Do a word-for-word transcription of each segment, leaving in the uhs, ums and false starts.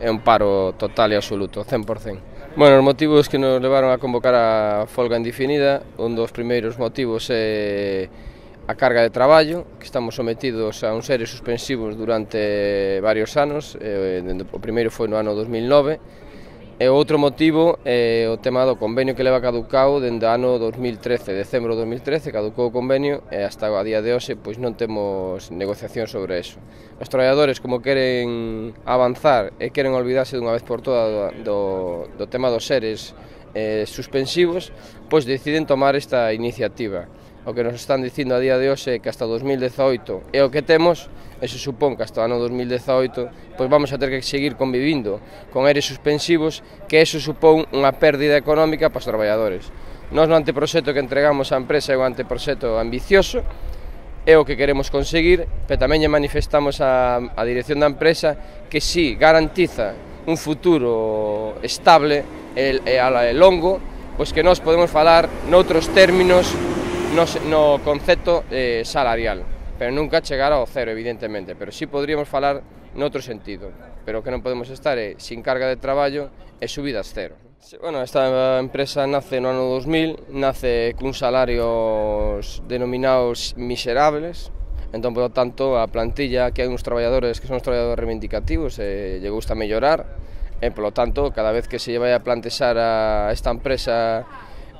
é un paro total e absoluto, cen por cen. Bueno, os motivos que nos levaron a convocar a folga indefinida, un dos primeiros motivos é a carga de traballo, que estamos sometidos a uns seres suspensivos durante varios anos, o primeiro foi no ano dos mil nove, e o outro motivo é o tema do convenio que leva caducado dende o ano dos mil trece, decembro de dos mil trece, caducou o convenio e hasta a día de hoxe pois non temos negociación sobre eso. Os traballadores, como queren avanzar e queren olvidarse dunha vez por todas do, do tema dos seres eh, suspensivos, pois deciden tomar esta iniciativa. O que nos están dicindo a día de hoxe é que hasta dos mil dezaoito é o que temos, e se supón que hasta o ano dos mil dezaoito pois vamos a ter que seguir convivindo con eres suspensivos, que eso supón unha pérdida económica para os traballadores. Nós no anteproxecto que entregamos á empresa é un anteproxecto ambicioso, é o que queremos conseguir, pero tamén lle manifestamos á, á dirección da empresa que si garantiza un futuro estable e, e, e longo, pois que nós podemos falar noutros términos no, no concepto eh, salarial, pero nunca chegar ao cero, evidentemente, pero sí podríamos falar noutro sentido, pero o que non podemos estar é sin carga de traballo e subidas cero. Bueno, esta empresa nace no ano dos mil, nace cun salarios denominados miserables, entón, por lo tanto, a plantilla que hai uns traballadores que son os traballadores reivindicativos e lle gusta mellorar, e, por lo tanto, cada vez que se lle vai a plantexar a esta empresa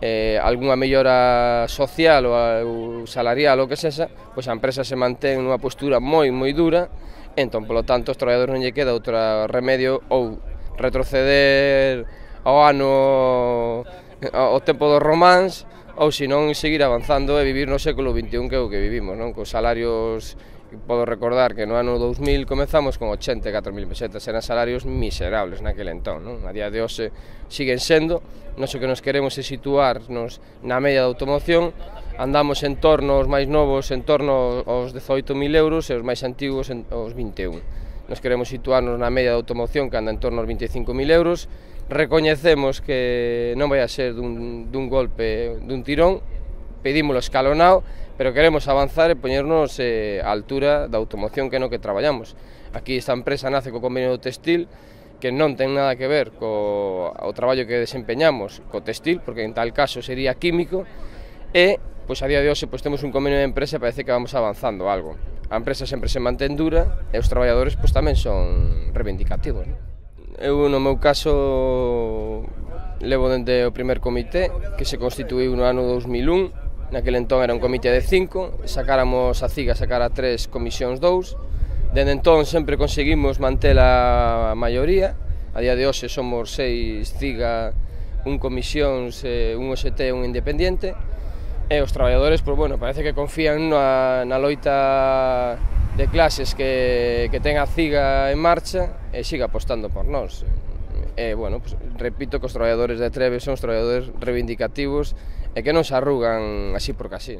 eh, algunha mellora social ou salarial ou que sexa, pois a empresa se mantén nunha postura moi moi dura, entón, polo tanto, os traballadores non lle queda outro remedio ou retroceder ao ano, ao tempo dos románs, ou senón seguir avanzando e vivir no século vinte e un, que é o que vivimos, non? Cos salarios, podo recordar que no ano dos mil comezamos con ochenta e catro mil pesetas, eran salarios miserables naquele entón, non? A día de hoxe siguen sendo, nós o que nos queremos é situarnos na media da automoción, andamos en torno aos máis novos en torno aos dezoito mil euros e os máis antigos aos vinte e un. Nos queremos situarnos na media da automoción, que anda en torno aos vinte e cinco mil euros, recoñecemos que non vai a ser dun, dun golpe, dun tirón, pedímolo escalonado, pero queremos avanzar e poñernos eh, á altura da automoción que é no que traballamos. Aquí esta empresa nace co convenio do textil, que non ten nada que ver co o traballo que desempeñamos co textil, porque en tal caso sería químico, e pois a día de hoxe pois temos un convenio de empresa e parece que vamos avanzando algo. A empresa sempre se mantén dura e os traballadores pois tamén son reivindicativos, non? Eu, no meu caso, levo dende o primer comité, que se constituíu no ano dos mil un, naquele entón era un comité de cinco, sacáramos a CIGA, sacara tres, comisións dous, dende entón sempre conseguimos manter a maioría, a día de hoxe somos seis CIGA, un comisións, un O S T e un independiente, e os traballadores, pois, bueno, parece que confían na, na loita de clases que, que ten a CIGA en marcha e siga apostando por nós. E, bueno, pues, repito que os traballadores de Trebe son os traballadores reivindicativos e que non se arrugan así porque así.